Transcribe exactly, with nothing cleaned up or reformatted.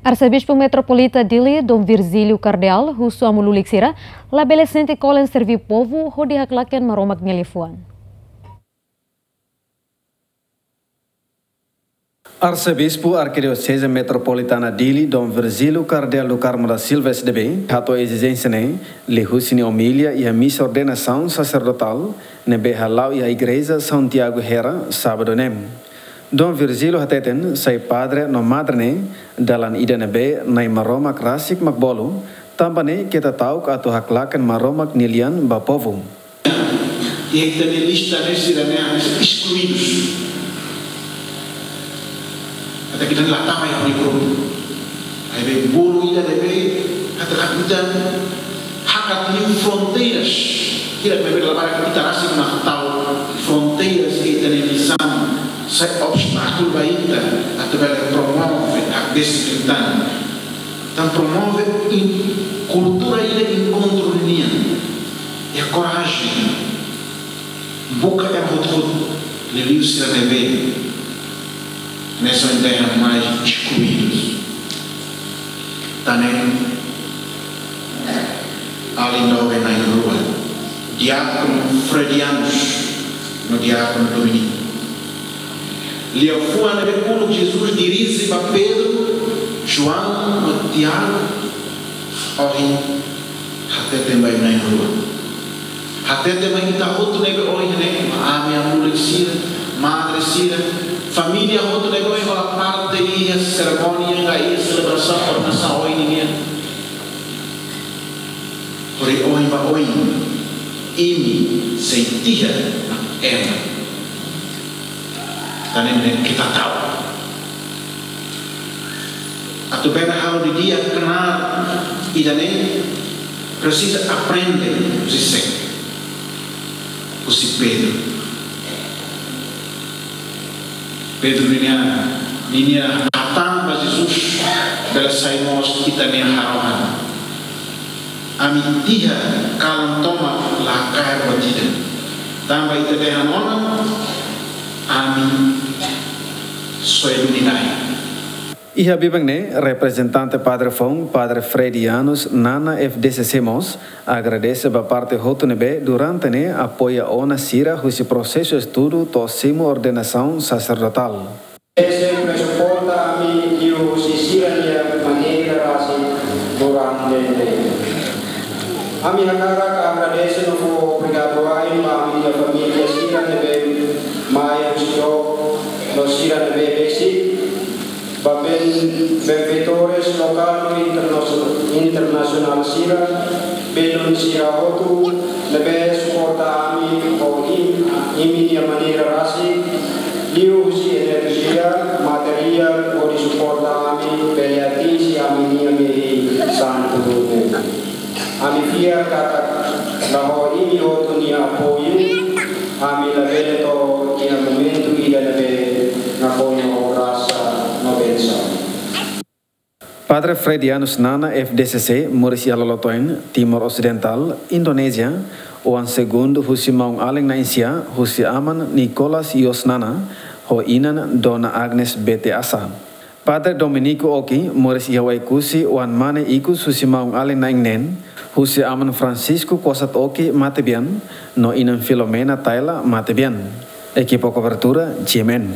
Arsebispu Metropolita Dili, Dom Virgílio Cardeal, husu amu lulik sira, labele sente kolen serví povu hodi haklaken Maromak nia liafuan. Arsebispu Arkidioseze Metropolitana Dili, Dom Virgílio Cardeal do Carmo da Silva, S D B, hato'o ezijénsia ne'e liuhusi nia omilia iha misa ordenasaun saserdotál ne'ebé hala'o iha Igreja São Tiago Hera, sábadu ne'e. Dom Virgílio hateten, sai padre no madre ne'e dalan ida ne'ebé Na'i Maromak rasik mak bolu, tanba ne'e keta ta'uk atu haklaken Maromak nia lian ba povu. Iha ita-nia lista ne'e sira-ne'e hanesan eskluidus. Ita-nia lian la tama iha ha'u-nia grupu. Maibé bolu ida ne'ebé ita la hatene, hakat liu fronteiras. Ida ne'ebé labarik ita rasik mak tau fronteiras iha ita-nia misaun, sai obstákulu ba ita atu bele promove hakdesiplina. Entaun promove in-, kultura ida enkontru nian. Iha korajen. Buka ema hotu-hotu, liuliu sira ne'ebé hanesan ita dehan mais eskluidus. Tan ne'e, alin doben na'in-rua, diákonu Fredianus no diákonu Dominiku. Liafuan ne'ebé uluk Jesus dirije ba Pedro, João no Tiago, ohin hatete ba ita na'in-rua. Hatete ba ita hotu ne'ebé ohin ne'e, ami amu lulik sira, madre sira, família hotu ne'ebé ohin hola parte iha serimónia ka iha selebrasaun ordenasaun ohin nian. Hori ohin ba ohin, imi sei tiha ema. Tan ne'e keta ta'uk. Atu bele halo didi'ak knaar ida-ne'e presiza aprende husi sé? Husi Pedro. Pedro ninia, ninia hatán ba Jesus bele sai mós ita-nia harohan. Ami tiha kalan tomak la kaer buat ida. Tanba ita dehan ona, ami soe duni dain. Iha biban ne'e, reprezentante padre foun, Padre Fredianus Nana, F D C C mós, agradese ba parte hotu ne'ebé durante ne'e apoia ona sira husi prosesu estudu to'o simu ordenasaun saserdotál. Sempre suporta ami liuhusi sira-nia maneira rasik durante ne'e. Ami hakarak agradese no fó obrigadu wa'in ba ami-nia família sira ne'ebé mai husi dook no sira ne'ebé besik, ba ben-, benfeitores lokál no interna-, internasionál sira, belun sira hotu ne'ebé suporta ami ho im-, imi-nia maneira rasik, liuhusi enerjia, materiál, hodi suporta ami bele atinje ami-nia mehi santu ne'e. Ami fiar katak la ho imi hotu nia apoiu, ami labele to'o iha momentu ida ne'ebé nakonu ho grasa no bensaun. Padre Fredianus Nana, F D C C, moris iha lolotoen Timor Osidentál, Indonézia, oan segundu husi maun-alin na'in-sia, husi aman Nicolas Yos Nana, ho inan Dona Agnes Bete Asa. Padre Dominiku Oki, moris iha Oekusi, oan mane ikus husi maun-alin na'in-neen, husi aman Francisco Kosat Oki Matebian, no inan Filomena Taila Matebian. Ekipa kobertura, G M N.